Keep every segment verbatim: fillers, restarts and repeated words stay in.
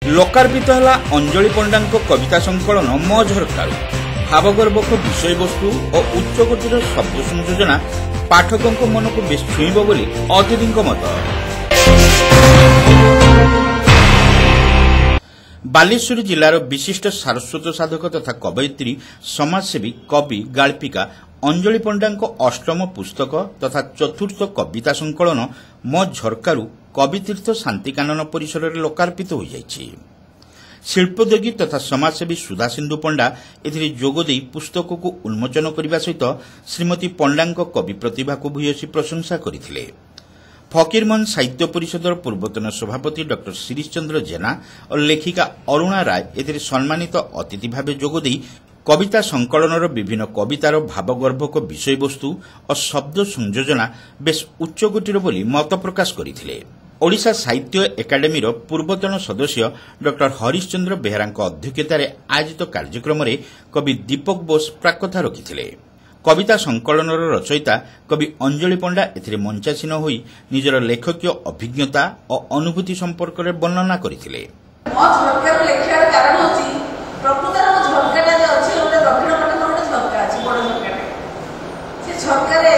ଲୋକାର୍ପିତ ହେଲା ଅଞ୍ଜଳି ପଣ୍ଡାଙ୍କ କବିତା ସଂକଳନ ମୋ ଝରକାରୁ। ଭାବଗର୍ଭକ ବିଷୟବସ୍ତୁ ଓ ଉଚ୍ଚକୋଟୀର ଶବ୍ଦ ସଂଯୋଜନା ପାଠକଙ୍କ ମନକୁ ବେଶ୍ ଛୁଇଁବ ବୋଲି ଅତିଥିଙ୍କ ମତ। ବାଲେଶ୍ୱର ଜିଲ୍ଲାର ବିଶିଷ୍ଟ ସାରସ୍ୱତ ସାଧକ ତଥା କବୟିତ୍ରୀ, ସମାଜସେବୀ, କବି, ଗାଳ୍ପିକା ଅଞ୍ଜଳି ପଣ୍ଡାଙ୍କ ଅଷ୍ଟମ ପୁସ୍ତକ ତଥା ଚତୁର୍ଥ କବିତା ସଂକଳନ ମୋ ଝରକାରୁ କବିତୀର୍ଥ ଶାନ୍ତିକାନନ ପରିସରରେ ଲୋକାର୍ପିତ ହୋଇଯାଇଛି। ଶିଳ୍ପୋଦ୍ୟୋଗୀ ତଥା ସମାଜସେବୀ ସୁଧାସିନ୍ଧୁ ପଣ୍ଡା ଏଥିରେ ଯୋଗଦେଇ ପୁସ୍ତକକୁ ଉନ୍ମୋଚନ କରିବା ସହିତ ଶ୍ରୀମତୀ ପଣ୍ଡାଙ୍କ କବି ପ୍ରତିଭାକୁ ଭୂୟସୀ ପ୍ରଶଂସା କରିଥିଲେ। ଫକୀରମୋହନ ସାହିତ୍ୟ ପରିଷଦର ପୂର୍ବତନ ସଭାପତି ଡକ୍ଟର ଶିରିଶ ଚନ୍ଦ୍ର ଜେନା ଓ ଲେଖିକା ଅରୁଣା ରାୟ ଏଥିରେ ସମ୍ମାନିତ ଅତିଥି ଭାବେ ଯୋଗଦେଇ କବିତା ସଂକଳନର ବିଭିନ୍ନ କବିତାର ଭାବଗର୍ଭକ ବିଷୟବସ୍ତୁ ଓ ଶବ୍ଦ ସଂଯୋଜନା ବେଶ୍ ଉଚ୍ଚକୋଟୀର ବୋଲି ମତ ପ୍ରକାଶ କରିଥିଲେ। ଓଡ଼ିଶା ସାହିତ୍ୟ ଏକାଡେମୀର ପୂର୍ବତନ ସଦସ୍ୟ ଡକ୍ଟର ହରିଶ୍ଚନ୍ଦ୍ର ବେହେରାଙ୍କ ଅଧ୍ୟକ୍ଷତାରେ ଆୟୋଜିତ କାର୍ଯ୍ୟକ୍ରମରେ କବି ଦୀପକ ବୋଷ ପ୍ରାକ୍କଥା ରଖିଥିଲେ। କବିତା ସଂକଳନର ରଚୟିତା କବି ଅଞ୍ଜଳି ପଣ୍ଡା ଏଥିରେ ମଞ୍ଚାସୀନ ହୋଇ ନିଜର ଲେଖକୀୟ ଅଭିଜ୍ଞତା ଓ ଅନୁଭୂତି ସମ୍ପର୍କରେ ବର୍ଣ୍ଣନା କରିଥିଲେ। ମୋ ଝରକାରୁ ଲେଖିବାର କାରଣ ହେଉଛି, ପ୍ରକୃତରେ ମୋ ଝରକାଟା ଯେ ଅଛି, ଗୋଟେ ଦକ୍ଷିଣ ପଟେ ମୋର ଗୋଟେ ଝରକା ଅଛି, ବଡ଼ ଝରକାଟେ। ସେ ଝରକାରେ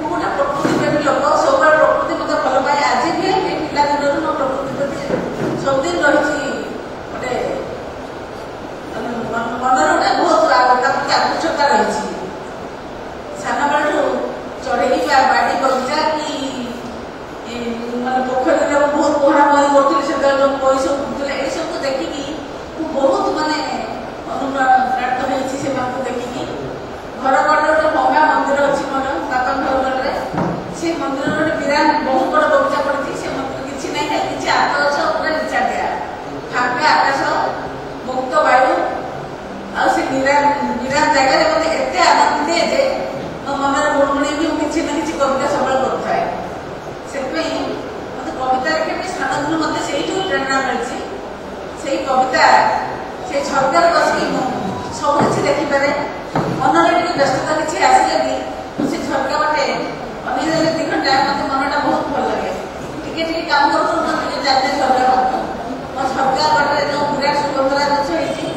ମୁଁ ଗୋଟେ ପ୍ରକୃତି ପ୍ରେମୀ ଲୋକ, ସବୁବେଳେ ପ୍ରକୃତି ମୋତେ ଭଲ ପାଏ। ଆଜି ବି ଏ ପିଲାଦିନରୁ ମୋ ପ୍ରକୃତି ପ୍ରତି ସବୁଦିନ ରହିଛି, ଗୋଟେ ମନରେ ଗୋଟେ ବହୁତ ତା ପ୍ରତି ଆକୃଷ୍ଟତା ରହିଛି। ସାନବେଳଠୁ ଚଢ଼େଇ ବା ବାଡ଼ି ବଗିଚା କି ମାନେ ପୋଖରୀରେ ମୁଁ ବହୁତ ପହଁରା ପହଁରି କରୁଥିଲି। ସେତେବେଳେ ଯେଉଁ ପୋଇ ସବୁ ଫୁଟୁଥିଲା, ଏସବୁ ଦେଖିକି ମୁଁ ବହୁତ ମାନେ ଅନୁପ୍ରାଣିତ ହେଇଛି ସେମାନଙ୍କୁ ଦେଖିକି। ଘର କଡ଼ରେ ଗୋଟେ ଭଙ୍ଗା ମନ୍ଦିର ଅଛି ମୋର, ବାପାଙ୍କ ଘର କଡ଼ରେ। ସେ ମନ୍ଦିରରେ ଗୋଟେ ବିରାଟ ବହୁତ ବଡ଼ ବଗିଚା ପଡ଼ିଛି। ସେ ମନ୍ଦିର କିଛି ନାହିଁ, ଖାଲି କିଛି ଆତ ଗଛ, ପୁରା ନିଚାଟିଆ, ଫାଙ୍କା ଆକାଶ, ମୁକ୍ତ ବାୟୁ ଆଉ ସେ ନିରାଟ ନିରାଟ ଜାଗାରେ ମୋତେ ଏତେ ଆନନ୍ଦ ଦିଏ ଯେ ମୋ ମନରେ ଗୁଣୁଗୁଣେଇ ବି ମୁଁ କିଛି ନା କିଛି କବିତା ସବୁବେଳେ କରୁଥାଏ। ସେଥିପାଇଁ ମୋତେ କବିତା ଲେଖିବା ପାଇଁ ସାନ ଦିନୁ ମୋତେ ସେଇଠୁ ପ୍ରେରଣା ମିଳିଛି। ସେଇ କବିତା, ସେଇ ଝରକାରେ ବସିକି ମୁଁ ସବୁ କିଛି ଦେଖିପାରେ। ମନରେ ଟିକେ ବ୍ୟସ୍ତତା କିଛି ଆସିଲେ ବି ମୁଁ ସେ ଝରକା ବାଟେ ଅନେଇ ଦେଲେ ଦି ଘଣ୍ଟା ମୋତେ ମନଟା ବହୁତ ଭଲ ଲାଗେ। ଟିକେ ଟିକେ କାମ କରୁ କରୁ ମୁଁ ଟିକେ ଚାଲିଯାଏ ଝରକା ପାଖକୁ। ମୋ ଝରକା ବାଟରେ ଯେଉଁ ବିରାଟ ସୁଗନ୍ଧରାଜ ଗଛ ହେଇଛି,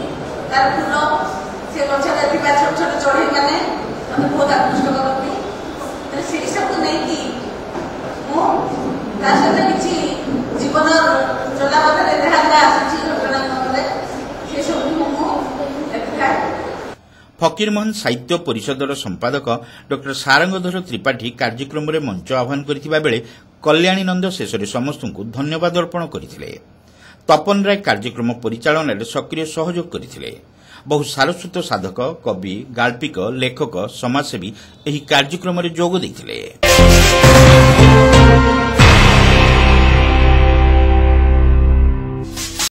ତାର ଫୁଲ, ସେ ଗଛରେ ଥିବା ଛୋଟ ଛୋଟ ଚଢ଼େଇ ମାନେ ମୋତେ ବହୁତ ଆକୃଷ୍ଟ କରନ୍ତି। ତେଣୁ ସେଇ ସବୁ ନେଇକି ମୁଁ ତା ସହିତ କିଛି ଜୀବନ ଚଲାପଥରେ ଯାହା ଯାହା ଆସୁଛି ଘଟଣା ମନରେ, ସେ ସବୁକୁ ମୁଁ ଲେଖିଥାଏ। ଫକୀରମୋହନ ସାହିତ୍ୟ ପରିଷଦର ସମ୍ପାଦକ ଡକ୍ଟର ସାରଙ୍ଗଧର ତ୍ରିପାଠୀ କାର୍ଯ୍ୟକ୍ରମରେ ମଞ୍ଚ ଆହ୍ୱାନ କରିଥିବା ବେଳେ କଲ୍ୟାଣୀ ନନ୍ଦ ଶେଷରେ ସମସ୍ତଙ୍କୁ ଧନ୍ୟବାଦ ଅର୍ପଣ କରିଥିଲେ। ତପନ ରାୟ କାର୍ଯ୍ୟକ୍ରମ ପରିଚାଳନାରେ ସକ୍ରିୟ ସହଯୋଗ କରିଥିଲେ। ବହୁ ସାରସ୍ୱତ ସାଧକ, କବି, ଗାଳ୍ପିକ, ଲେଖକ, ସମାଜସେବୀ ଏହି କାର୍ଯ୍ୟକ୍ରମରେ ଯୋଗ ଦେଇଥିଲେ।